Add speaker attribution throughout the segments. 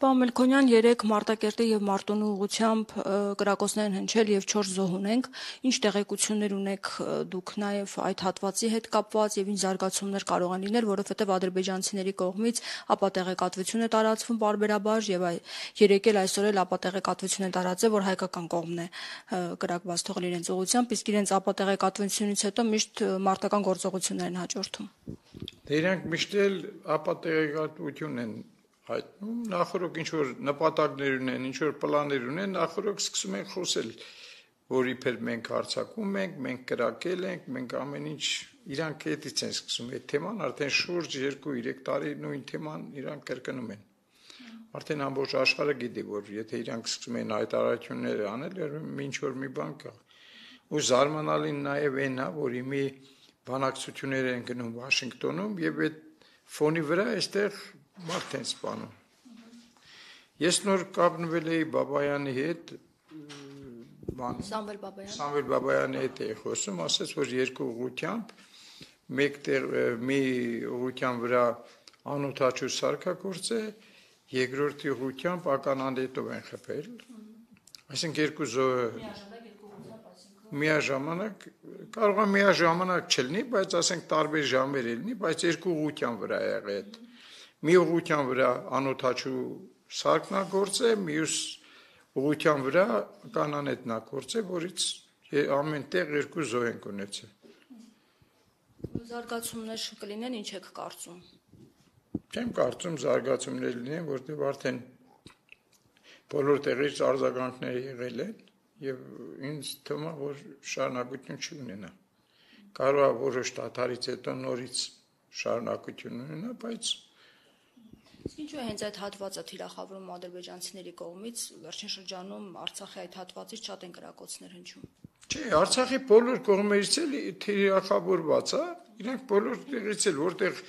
Speaker 1: Պարոն Մելքոնյան, 3 Մարտակերտի եւ Մարտունու ուղղությամբ կրակոցներ են հնչել եւ 4 զոհ ունենք։ Ինչ տեղեկություններ ունեք դուք նաեւ այդ հատվածի հետ կապված եւ ինչ զարգացումներ կարող են լինել, որովհետեւ ադրբեջանցիների կողմից ապատեղեկատվություն է տարածվում բարբերաբար եւ երեկ էլ այսօր էլ ապատեղեկատվություն է տարածել, որ հայկական կողմն է կրակված թողել իրենց ուղղությամբ, իսկ իրենց ապատեղեկատվությունից հետո միշտ մարտական գործողություններ են հաջորդում։
Speaker 2: Դրանք միշտ էլ ապատեղեկատվություն են հայտնում, նախորդ ինչ որ նպատակներ ունեն, ինչ որ պլաններ ունեն, նախորդ սկսում են խոսել, որ իբր մենք հարձակում ենք, մենք կրակել ենք, մենք ամեն ինչ իրանք այդից են սկսում այդ թեման, արդեն շուրջ 2-3 տարի նույն թեման իրանք կրկնում են։ Արդեն ամբողջ աշխարհը գիտի, որ եթե իրանք սկսում են հայտարարություններ անել, ինչ որ մի բան կա։ Ու զարմանալին նաև այն է, որ իմի բանակցություններ են գնում Վաշինգտոնում եւ այդ ֆոնի վրա այստեղ մարդ են սպանում։ Ես նոր կապնվել էի Բաբայանի հետ, Սամվել Բաբայանի հետ էի խոսում, ասաց, որ 2 ուղղությամբ, մի ուղղության վրա անօթաչու սարքագործ է, երկրորդ ուղղությամբ ականանդետով են խփել, այսինքն 2 զոհ միաժամանակ, կարող է միաժամանակ չլինի, բայց ասենք տարբեր ժամեր լինի, բայց 2 ուղղության վրա է եղել։ Մի ուղղության վրա անօթաչու սարքնագործ է, մյուս ուղղության վրա կանանետնագործ է, որից ամեն տեղ 2 զոհ են ունեցել։
Speaker 1: Զարգացումներ կլինեն, ինչ եք կարծում։
Speaker 2: Չեմ կարծում զարգացումներ լինեն, որտեղ արդեն բոլոր տեղից արձագանքներ եղել են եւ ինձ թվում է, որ շարունակություն չունենա։ Կարող է որոշ դադարից հետո նորից շարունակություն ունենա, բայց
Speaker 1: Ինչու է հենց այդ հատվածը թիրախավորում ադրբեջանցիների կողմից, վերջին շրջանում Արցախի այդ հատվածից շատ են կրակոցներ հնչում։
Speaker 2: Չէ, Արցախի բոլոր կողմերից էլ թիրախավորված է, իրանք բոլոր տեղից էլ որտեղ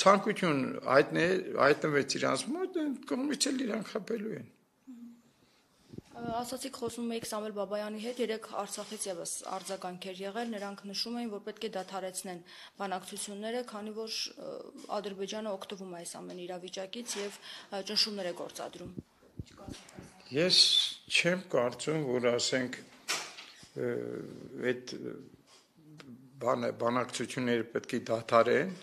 Speaker 2: ցանկություն հայտնվեց իրանց մոտ, այդ կողմից էլ իրանք խփելու են։
Speaker 1: Ասացիք խոսում եք Սամվել Բաբայանի հետ, 3 Արցախից եւս արձագանքեր եղել, նրանք նշում էին, որ պետք է դադարեցնեն բանակցությունները, քանի որ Ադրբեջանը օգտվում է այս ամեն իրավիճակից եւ ճնշումներ է գործադրում։
Speaker 2: Ես չեմ կարծում, որ ասենք այդ բանակցությունները պետք է դադարեն,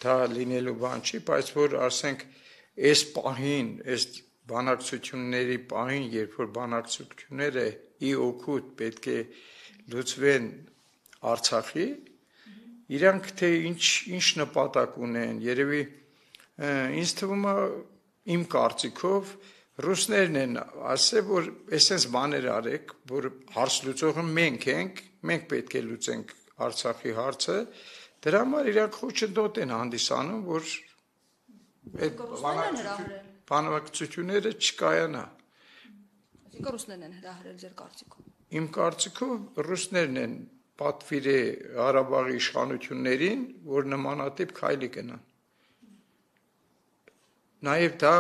Speaker 2: դա լինելու բան չի, բայց որ ասենք այս պահին, այս բանակցությունների պահին, երբ որ բանակցությունները ի օգուտ պետք է լուծվեն Արցախի, իրանք թե ինչ նպատակ ունեն, երևի ինձ թվում է իմ կարծիքով ռուսներն են ասել, որ այսպես բաներ արեք, որ հարց լուծողը մենք ենք, մենք պետք է լուծենք Արցախի հարցը, դրա համար իրանք խոչընդոտ են հանդիսանում, որ այդ բանակցությունները չկայանա։
Speaker 1: Այսինքն ռուսներն են հրահրել ձեր կարծիքով։
Speaker 2: Իմ կարծիքով ռուսներն են պատվիրել Ղարաբաղի իշխանություններին, որ նմանատիպ քայլի կնան։ Նաև դա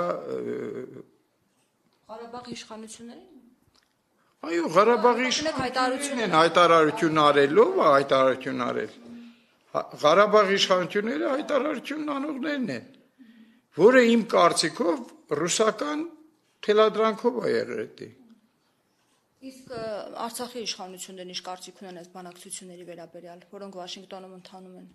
Speaker 1: Ղարաբաղի իշխանություններին։
Speaker 2: Այո, Ղարաբաղի իշխանություններն են հայտարարություն արել։ Ղարաբաղի իշխանությունները հայտարարություն անողներն են, որը իմ կարծիքով ռուսական թելադրանքով է եղել։
Speaker 1: Իսկ Արցախի իշխանություններն ինչ կարծիք ունեն այս բանակցությունների վերաբերյալ, որոնք Վաշինգտոնում ընթանում են։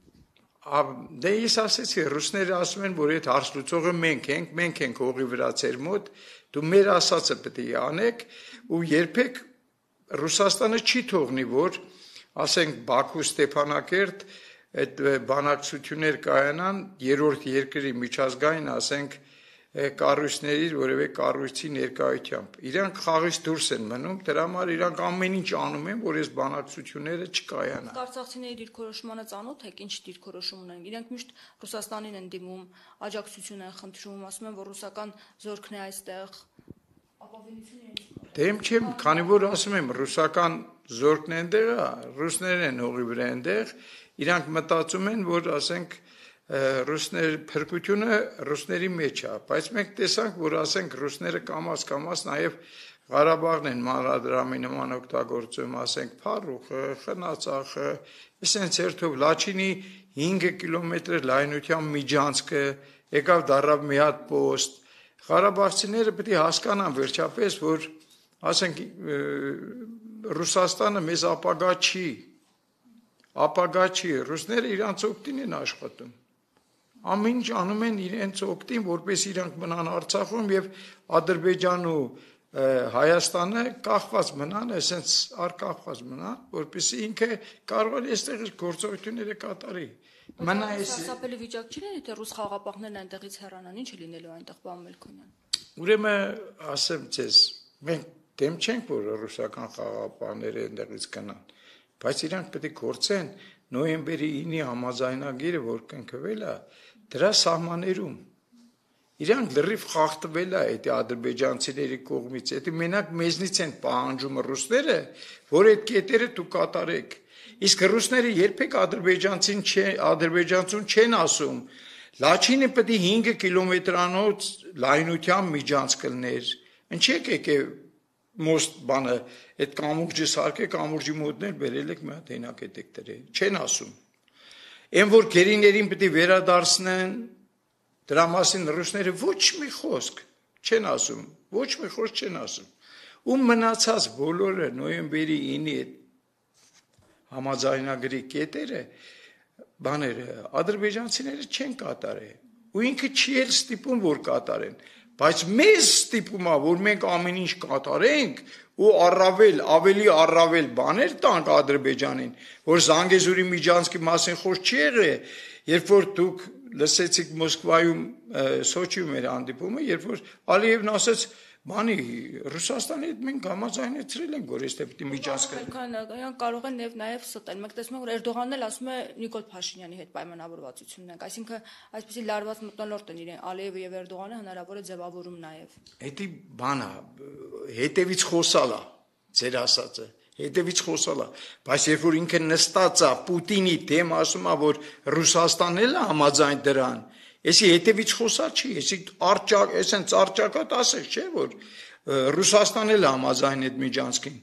Speaker 2: Դե ես ասեցի, ռուսները ասում են, որ այդ հարց լուծողը մենք ենք հողի վրա ձեր մոտ, դու մեր ասածը պետք է անեք, ու երբեք Ռուսաստանը չի թողնի, որ ասենք Բաքու Ստեփանակերտ այդ բանակցություններ կայանան 3-րդ երկրի միջազգային, ասենք, կառույցների որևէ կառույցի ներկայությամբ։ Իրանք խաղից դուրս են մնում, դրա համար իրանք ամեն ինչ անում են, որ այս բանակցությունները չկայանան։
Speaker 1: Արցախցիների դիրքորոշմանը ծանոթ եք, ինչ դիրքորոշում ունեն։ Իրանք միշտ Ռուսաստանին են դիմում, աջակցություն են խնդրում, ասում են, որ ռուսական զորքն է այստեղ։
Speaker 2: Դեմ չեմ, քանի որ ասում եմ, ռուսական զորքն է այնտեղ, ռուսներն են հողի վրա այնտեղ, իրանք մտածում են, որ ասենք փրկությունը ռուսների մեջ է, բայց մենք տեսանք, որ ասենք ռուսները կամաց նաև Ղարաբաղն են մանրադրամի նման օգտագործում, ասենք Փարուխը, Խնածախը, այսպես երթով Լաչինի 5 կիլոմետր լայնության միջանցքը, եկավ դառավ մի հատ post, Ղարաբաղցիները պետք է հասկանան վերջապես, որ ասենք Ռուսաստանը մեզ ապագա չի, ռուսները իրանց օգտին են աշխատում, ամեն ինչ անում են իրենց օգտին, որպես իրանք մնան Արցախում եւ Ադրբեջան ու Հայաստանը կախված մնան, այսպես արկախված մնան, որպեսզի ինքը կարող է այստեղ գործողությունները կատարի։ Մնա էս
Speaker 1: Սարսափելի վիճակ չի լինի, թե ռուս խաղապահներն այնտեղից հեռանան, ինչ է լինելու այնտեղ, պարոն Մելքոնյան։
Speaker 2: Ուրեմն ասեմ ձեզ, մենք դեմ չենք, որ ռուսական խաղապահները այնտեղից գնան, բայց իրանք պետք է գործեն նոյեմբերի 9-ի համաձայնագիրը, որ կնքվել է, դրա սահմաններում։ Իրանք լրիվ խախտվել է այդ ադրբեջանցիների կողմից, դա մենակ մեզնից են պահանջում ռուսները, որ այդ կետերը դուք կատարեք։ Իսկ ռուսները երբեք ադրբեջանցուն չեն ասում, Լաչինը պետք է 5 կիլոմետրանոց լայնությամբ միջանց կլներ։ Ինչի՞ եկեք մոստ բանը, այդ կամուրջը սարքեք, կամուրջի մոտներ բերել եք մի հատ հենակետեք դրել։ Չեն ասում։ Այն որ գերիներին պետք է վերադարձնեն, դրա մասին ռուսները ոչ մի խոսք չեն ասում, ոչ մի խոսք չեն ասում։ Ու մնացած բոլորը նոյեմբերի 9-ի համաձայնագրի կետերը բաները ադրբեջանցիները չեն կատարել ու ինքը չի էլ ստիպում որ կատարեն բայց մեզ ստիպում է որ մենք ամեն ինչ կատարենք ու ավելի առավել բաներ տանք Ադրբեջանին որ Զանգեզուրի միջանցքի մասին խոսք չի եղել երբ որ դուք լսեցիք Մոսկվայում Սոչիում էր հանդիպումը երբ որ Ալիևն ասաց Բանի Ռուսաստանի հետ մենք համաձայնեցրել ենք, որ այստեղ պիտի միջանցք
Speaker 1: կարող են նաև ստել։ Մենք տեսնում ենք, որ Էրդողանն էլ ասում է Նիկոլ Փաշինյանի հետ պայմանավորվածություն ունենք, այսինքն այսպեսի լարված մթնոլորտ են իրեն Ալիևը եւ Էրդողանը հնարավոր է ձևավորում նաև։
Speaker 2: Դա բան է, հետևից խոսալ է, ձեր ասածը, հետևից խոսալ է, բայց երբ որ ինքը նստած է Պուտինի դեմ ասում է, որ Ռուսաստանն էլ է համաձայն դրան Էսի հետևից խոսալ չի, էսի այսենց արճակատ ասեք, չէ, որ Ռուսաստանն էլ համաձայն այդ միջանցքին։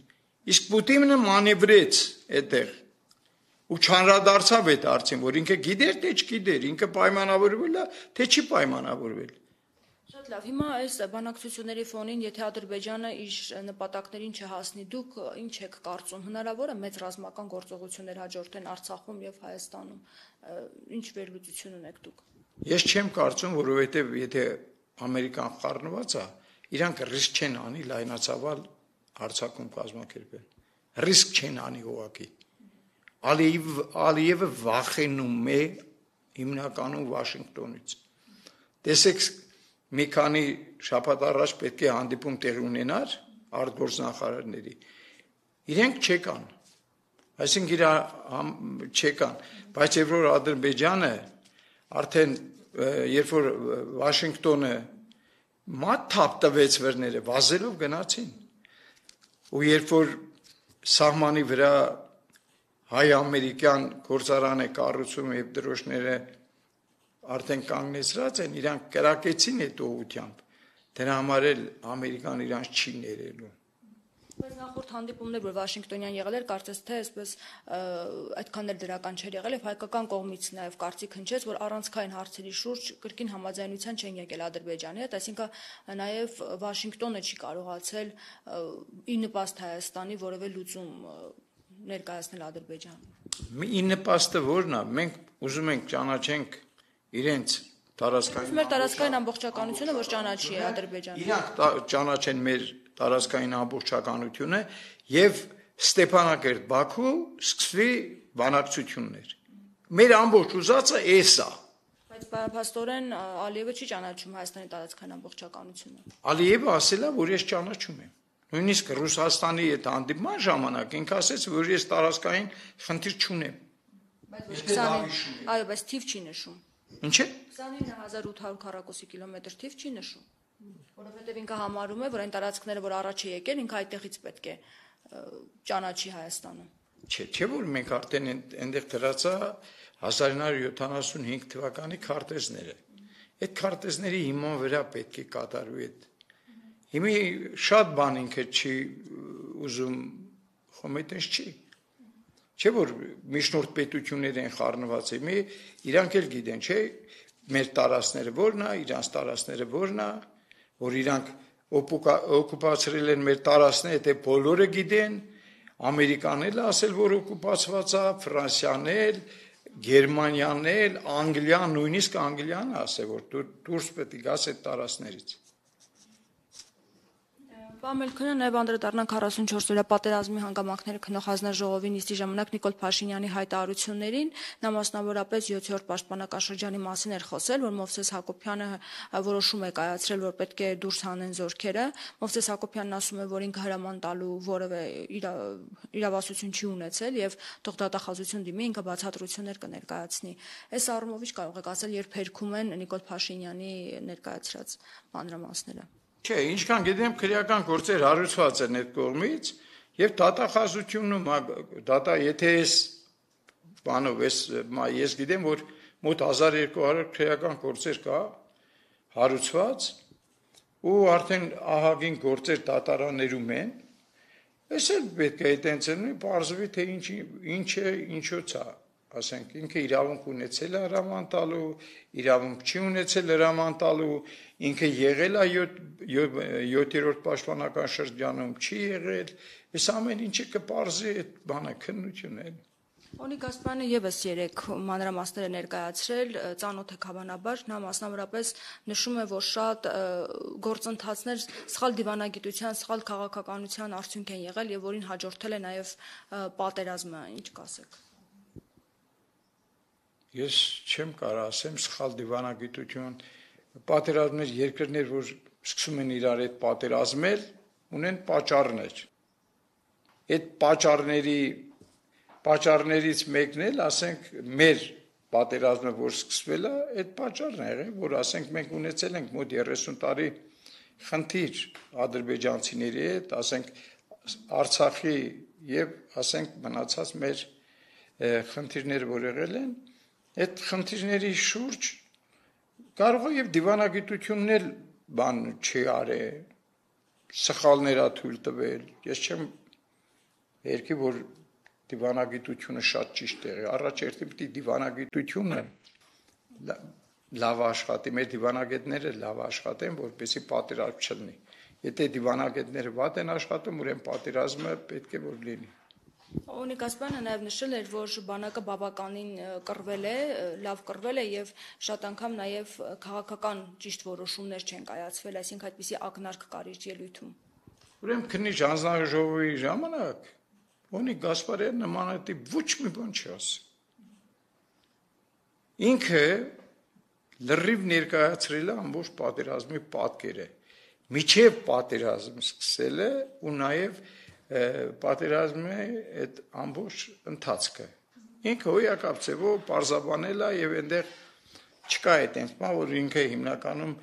Speaker 2: Իսկ Պուտինը մանևրեց այդտեղ ու չանդրադարձավ այդ հարցին, որ ինքը գիտեր, թե չգիտեր, ինքը պայմանավորվել է, թե չի պայմանավորվել։
Speaker 1: Շատ լավ, հիմա այս բանակցությունների ֆոնին, եթե Ադրբեջանը իր նպատակներին չհասնի, դուք ինչ եք կարծում, հնարավոր է մեծ ռազմական գործողություններ հաջորդեն Արցախում եւ Հայաստանում, ինչ վերլուծություն ունեք դուք։
Speaker 2: Ես չեմ կարծում, որովհետև եթե Ամերիկան խառնված է, իրանք ռիսկ չեն անի լայնացավալ Արցախում կազմակերպել։ Ռիսկ չեն անի ուղղակի։ Ալիևը վախենում է հիմնականում Վաշինգտոնից։ Տեսեք, մի քանի շաբաթ առաջ պետք է հանդիպում տեղի ունենար արտգործնախարարների։ Իրենք չեկան։ Այսինքն չեկան, բայց երբ որ Ադրբեջանը Արդեն երբ որ Վաշինգտոնը մատ թափ տվեց վերները, վազելով գնացին։ Ու երբ որ սահմանի վրա հայ-ամերիկյան գործարան է կառուցում եւ դրոշները արդեն կանգնեցրած են, իրանք կրակեցին այդ ուղությամբ։ Դրա համար էլ Ամերիկան իրանց չի ներելու։
Speaker 1: Բայց նախորդ հանդիպումներ, որ Վաշինգտոնյան եղել էր, կարծես թե այսպես այդքան էլ դրական չէր եղել եւ հայկական կողմից նաեւ կարծիք հնչեց, որ առանցքային հարցերի շուրջ կրկին համաձայնության չեն եկել Ադրբեջանի հետ, այսինքն նաեւ Վաշինգտոնը չի կարողացել ի նպաստ Հայաստանի որևէ լուծում ներկայացնել Ադրբեջանին։
Speaker 2: Ի նպաստը ո՞րն է։ Մենք ուզում ենք ճանաչենք իրենց տարածքային
Speaker 1: մեր տարածքային ամբողջականությունը, որ ճանաչի Ադրբեջանը։
Speaker 2: Իրանք ճանաչեն մեր տարածքային ամբողջականությունը եւ Ստեփանակերտ Բաքու սկսվի բանակցություններ։ Մեր ամբողջ ուզածը էս է։
Speaker 1: Բայց փաստորեն Ալիևը չի ճանաչում Հայաստանի տարածքային ամբողջականությունը։
Speaker 2: Ալիևը ասել է, որ ես ճանաչում եմ։ Նույնիսկ Ռուսաստանի հետ հանդիպման ժամանակ ինքը ասեց, որ ես տարածքային խնդիր չունեմ։
Speaker 1: Այո, բայց թիվ չի նշում։
Speaker 2: Ինչ է։
Speaker 1: 29800 քառակուսի կիլոմետր թիվ չի նշում։ Որովհետև ինքը համարում է, որ այն տարածքները, որ առաջ է եկել, ինքը այդտեղից պետք է ճանաչի Հայաստանը։
Speaker 2: Չէ, որ մենք արդեն այնտեղ դրած է 1975 թվականի քարտեզները։ Այդ քարտեզների հիման վրա պետք է կատարվի այդ։ Հիմա շատ բան ինքը չի ուզում խոմետես չի։ Չէ որ միջնորդ պետություններ են խառնված, իրանք էլ գիտեն, չէ, մեր տարածքները որն է, իրանց տարածքները որն է, որ իրանք օկուպացրել են մեր տարածքները, դե բոլորը գիտեն, Ամերիկանն էլ ասել, որ օկուպացված է, Ֆրանսիան էլ, Գերմանիան էլ, Անգլիան, նույնիսկ Անգլիան ասել, որ դուրս պետք է գաս այդ տարածքներից։
Speaker 1: Պարոն Մելքոնյան, նաև անդրադառնանք 44-օրյա պատերազմի հանգամանքները քննող հանձնաժողովի նիստի ժամանակ Նիկոլ Փաշինյանի հայտարարություններին, նա մասնավորապես 7-րդ պաշտպանական շրջանի մասին էր խոսել, որ Մովսես Հակոբյանը որոշում է կայացրել, որ պետք է դուրս հանեն զորքերը։ Մովսես Հակոբյանն ասում է, որ ինքը հրաման տալու որևէ իրավասություն չի ունեցել եւ թող դատախազություն դիմի, ինքը բացատրություններ կներկայացնի։ Այս առումով ինչ կարող եք ասել, երբ հերքում են Նիկոլ Փաշինյանի ներկայացրած մանրամասները։
Speaker 2: Չէ, ինչքան գիտեմ, քրեական գործեր հարուցված են այդ կողմից եւ դատախազությունը եթե ես գիտեմ, որ մոտ 1200 քրեական գործեր կա հարուցված ու արդեն ահագին գործեր դատարաններում են, այս էլ պետք է այդտենց լինի, բարձվի թե ինչ է, ինչոց է, ասենք ինքը իրավունք ունեցել է հրաման տալու, իրավունք չի ունեցել հրաման տալու, ինքը եղել է 7-րդ պաշտպանական շրջանում, չի եղել, այս ամեն ինչը կպարզի այդ բանը քննությունն։
Speaker 1: Օնիկ Գասպարյանը եւս 3 մանրամասներ է ներկայացրել, ծանոթ է հավանաբար, նա մասնավորապես նշում է, որ շատ գործընթացներ սխալ դիվանագիտության, սխալ քաղաքականության արդյունք են եղել եւ որին հաջորդել է նաեւ պատերազմը, ինչ կասեք։
Speaker 2: Ես չեմ կարող ասեմ սխալ դիվանագիտություն, պատերազմներ երկրներ, որ սկսում են իրար այդ պատերազմել, ունեն պատճառներ։ Այդ պատճառներից մեկն էլ, ասենք, մեր պատերազմը, որ սկսվել է, այդ պատճառն է եղել, որ ասենք մենք ունեցել ենք մոտ 30 տարի խնդիր ադրբեջանցիների հետ, ասենք Արցախի եւ ասենք մնացած մեր խնդիրները, որ եղել են, այդ խնդիրների շուրջ կարող է եւ դիվանագիտությունն էլ բան չի արել, սխալներ է թույլ տվել։ Ես չեմ երկի, որ դիվանագիտությունը շատ ճիշտ է, առաջերտին պիտի դիվանագիտությունը լավ աշխատի, մեր դիվանագետները լավ աշխատեն, որպեսզի պատերազմ չլինի։ Եթե դիվանագետները վատ են աշխատում, ուրեմն պատերազմը պետք է որ լինի։
Speaker 1: Օնիկ Գասպարյանը նաև նշել էր, որ բանակը բավականին կռվել է, լավ կռվել է եւ շատ անգամ նաև քաղաքական ճիշտ որոշումներ չեն կայացվել, այսինքն այդպիսի ակնարկ կար իր ելույթում։
Speaker 2: Ուրեմն քննիչ հանձնաժողովի ժամանակ Օնիկ Գասպարյանը նմանատիպ ոչ մի բան չի ասել։ Ինքը լրիվ ներկայացրել է ամբողջ պատերազմի պատկերը։ Միջև պատերազմ սկսել է ու նաև պատերազմի այդ ամբողջ ընթացքը։ Ինքը հոյակապ ձևով պարզաբանել է եւ այնտեղ չկա այդպես բան, որ ինքը հիմնականում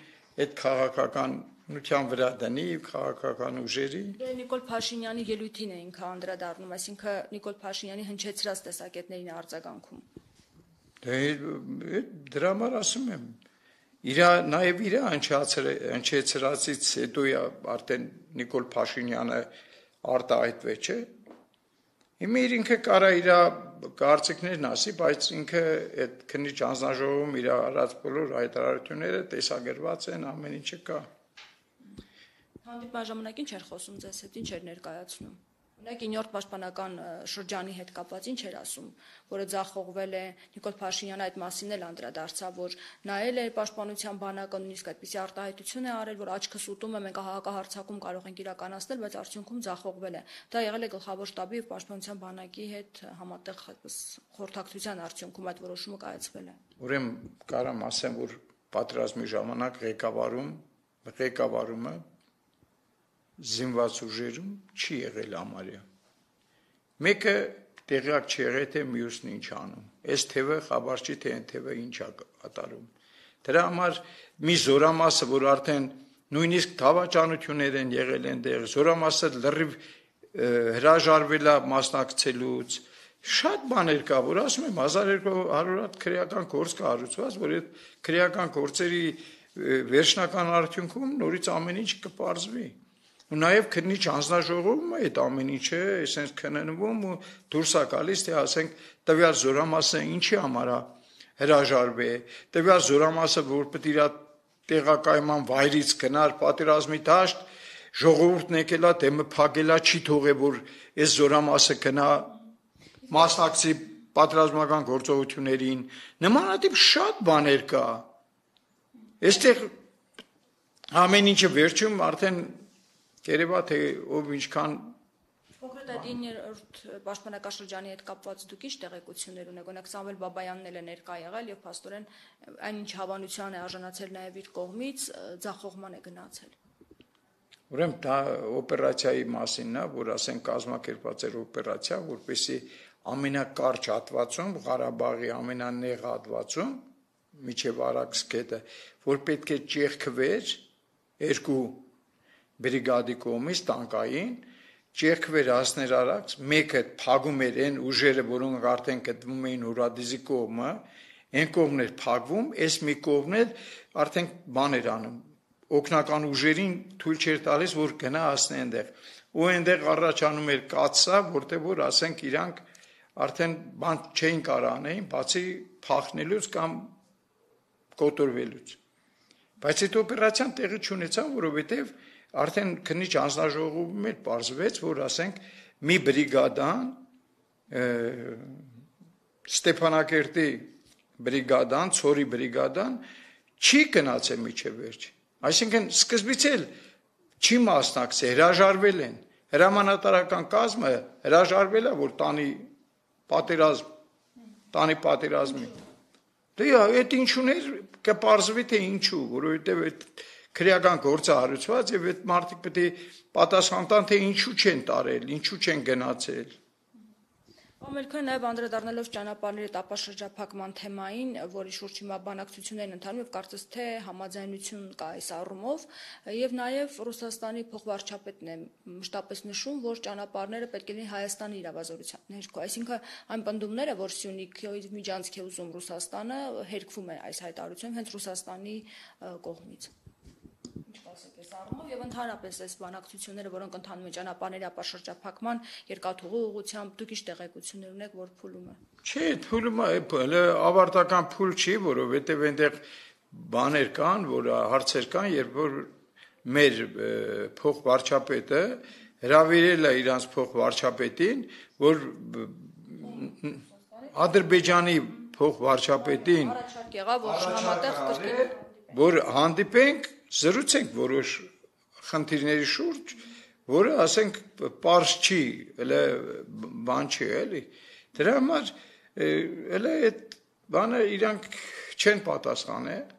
Speaker 2: այդ քաղաքականության վրա դնի քաղաքական ուժերի։
Speaker 1: Նիկոլ Փաշինյանի ելույթին է ինքը անդրադառնում, այսինքն Նիկոլ Փաշինյանի հնչեցրած տեսակետներին արձագանքում։
Speaker 2: Դրա համար ասում եմ, նաև իր հնչեցրածից հետո արդեն Նիկոլ Փաշինյանը արտահայտվեց, չէ։ Հիմա ինքը կարա իր կարծիքներն ասի, բայց ինքը այդ քննիչ հանձնաժողովում իր արած բոլոր հայտարարությունները տեսագրված են, ամեն ինչը կա։
Speaker 1: Հանդիպման ժամանակ ինչ էր խոսում ձեզ հետ, ինչ էր ներկայացնում։ Ունեք 9-րդ պաշտպանական շրջանի հետ կապված ինչ էր ասում, որը ձախողվել է, Նիկոլ Փաշինյանը այդ մասին էլ անդրադարձավ, որ նայել է պաշտպանության բանակը, նույնիսկ այդպիսի արտահայտություն է արել, որ աչքս ուտում է, մենք հակահարձակում կարող ենք իրականացնել, բայց արդյունքում ձախողվել է։ Դա եղել է գլխավոր շտաբի եւ պաշտպանության բանակի հետ համատեղ խորհրդակցության արդյունքում այդ որոշումը կայացվել է։
Speaker 2: Ուրեմն կարամ ասեմ, որ պատերազմի ժամանակ ղեկավարումը զինված ուժերում չի եղել համարյա։ Մեկը տեղյակ չի եղել, թե մյուսն ինչ անում։ Այս թևը խաբար չի, թե այն թևը ինչ է կատարում։ Դրա համար մի զորամասը, որ արդեն նույնիսկ դավաճանություններ են եղել այնտեղ, զորամասը լրիվ հրաժարվել է մասնակցելուց, շատ բաներ կա, որ ասում եմ 1200 հատ քրեական գործ կա հարուցված, որ այդ քրեական գործերի վերջնական արդյունքում նորից ամեն ինչ կպարզվի։ Ու նաև քննիչ հանձնաժողովում այդ ամեն ինչը այսպես քննվում ու դուրս է գալիս, թե ասենք տվյալ զորամասը ինչի համար է հրաժարվի, տվյալ զորամասը, որ պետք է իր տեղակայման վայրից գնար պատերազմի դաշտ, ժողովուրդն եկել է, դեմը փակել է, չի թողել, որ այս զորամասը գնա մասնակցի պատերազմական գործողություններին, նմանատիպ շատ բաներ կա։ Այստեղ ամեն ինչը վերջում արդեն երևա թե ով ինչքան
Speaker 1: Կոնկրետ այդ 9-րդ պաշտպանակաշրջանի հետ կապված դուք ինչ տեղեկություններ ունեք, օրինակ Սամվել Բաբայանն էլ է ներկա եղել եւ փաստորեն այնինչ հավանության է արժանացել նաեւ իր կողմից ձախողման է գնացել։
Speaker 2: Ուրեմն դա օպերացիայի մասինն է, որ ասենք կազմակերպված էր օպերացիա, որպեսզի ամենակարճ հատվածում, Ղարաբաղի ամենանեղ հատվածում, միջև Արաքս գետը, որ պետք է ճեղքվեր երկու բրիգադի կողմից տանկային, ճեղքվեր հասներ Արաքս, մեկը փակում էր այն ուժերը, որոնք արդեն գտնվում էին Հուրադիզի կողմը, այն կողմն էր փակվում, այս մի կողմն էր արդեն բան էր անում, օգնական ուժերին թույլ չէր տալիս, որ գնա հասնի այնտեղ։ Ու այնտեղ առաջանում էր կացա, որտեղ որ ասենք իրանք արդեն բան չէին կարող անեին, բացի փախնելուց կամ կոտորվելուց։ Բայց այդ օպերացիան տեղի չունեցավ, որովհետև արդեն քննիչ հանձնաժողովում էր պարզվեց, որ ասենք մի բրիգադան Ստեփանակերտի բրիգադան, Ցորի բրիգադան չի գնացել միջև վերջ։ Այսինքն սկզբից էլ չի մասնակցել, հրաժարվել են։ Հրամանատարական կազմը հրաժարվել է, որ տանի պատերազմի։ Դե այդ ինչուներ կպարզվի թե ինչու, որովհետև այդ քրեական գործը հարուցված եւ այդ մարդիկ պետք է պատասխան տան թե ինչու չեն տարել, ինչու չեն գնացել։
Speaker 1: Ամերիկան նաև անդրադառնալով ճանապարհների տապաշրջափակման թեմային, որի շուրջ հիմա բանակցություններ են ընթանում եւ կարծես թե համաձայնություն կա այս առումով, եւ նաև Ռուսաստանի փոխվարչապետն է մշտապես նշում, որ ճանապարհները պետք է լինեն Հայաստանի իրավազորության ներքո, այսինքն այն պնդումները, որ Սյունիքի միջանցք է ուզում Ռուսաստանը, հերկվում է այս հայտարարությամբ հենց Ռուսաստանի կողմից։ Ասեք այս առումով եւ ընդհանրապես այս բանակցությունները, որոնք ընթանում են ճանապարհների ապաշրջափակման երկաթուղու ուղղությամբ, դուք ինչ տեղեկություններ ունեք, որ փուլում է։
Speaker 2: Չէ, փուլումը ավարտական փուլ չի, որովհետեւ այնտեղ բաներ կան, որ հարցեր կան, երբ որ մեր փոխվարչապետը հրավիրել է իրանց փոխվարչապետին, որ Ադրբեջանի փոխվարչապետին
Speaker 1: առաջարկ եղավ, որ համատեղ կրկին
Speaker 2: որ հանդիպենք, զրուցենք որոշ խնդիրների շուրջ, որը ասենք պարզ չի, elə բան չի, էլի։ Դրա համար elə այդ բանը իրանք չեն պատասխանել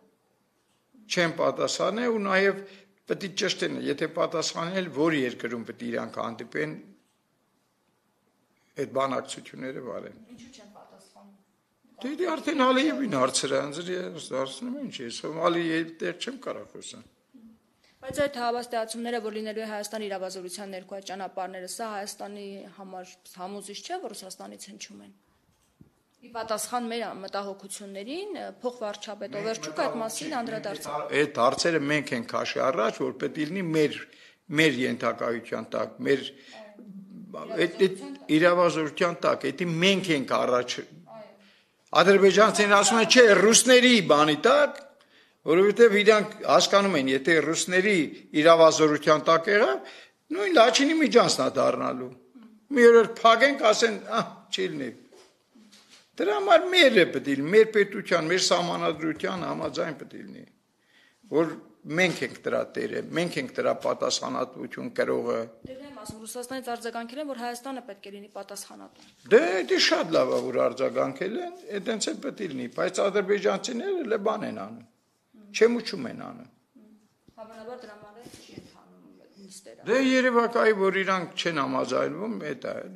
Speaker 2: ու նաև պետք է ճշտեն, եթե պատասխանել, որ երկրում պետք է իրանք հանդիպեն այդ բանակցությունները վարեն։
Speaker 1: Ինչու չեն պատասխանում։
Speaker 2: Դե արդեն Ալիևին հարցրը հարցնում են, ինչ է, Ալիևի տեղ չեմ կարող խոսալ։
Speaker 1: Բայց այդ հավաստիացումները, որ լինելու է Հայաստանի իրավազորության ներքո այդ ճանապարհները, սա Հայաստանի համար համոզիչ չէ, որ Ռուսաստանից հնչում են։ Ի պատասխան մեր մտահոգություններին փոխվարչապետ Օվերչուկը այդ մասին անդրադարձավ։
Speaker 2: Այդ հարցերը մենք ենք քաշի առաջ, որ պետք է լինի մեր ենթակայության տակ, մեր իրավազորության տակ, դա մենք ենք առաջ։ Ադրբեջանցիներն ասում են, չէ, ռուսների բանի տակ, որովհետև իրանք հասկանում են, եթե ռուսների իրավազորության տակ եղավ, նույն Լաչինի միջանցն է դառնալու։ Մի օր փակենք, ասեն, չի լինի։ Դրա համար մերը պետք է լինի, մեր պետության, մեր սահմանադրության համաձայն պետք է լինի, որ մենք ենք դրա տերը, մենք ենք դրա պատասխանատվություն կրողը։
Speaker 1: Դե եմ ասում, Ռուսաստանից արձագանքել են, որ Հայաստանը պետք է լինի պատասխանատու։
Speaker 2: Դե դա շատ լավ է, որ արձագանքել են, այդտենց էլ պետք է լինի, բայց ադրբեջանցիները լե բան են անում, չեմուչում են անում։
Speaker 1: Հավանաբար դրա համար չի ընթանում նիստերը։
Speaker 2: Դե երևակայի, որ իրանք չեն համաձայնվում, դա է։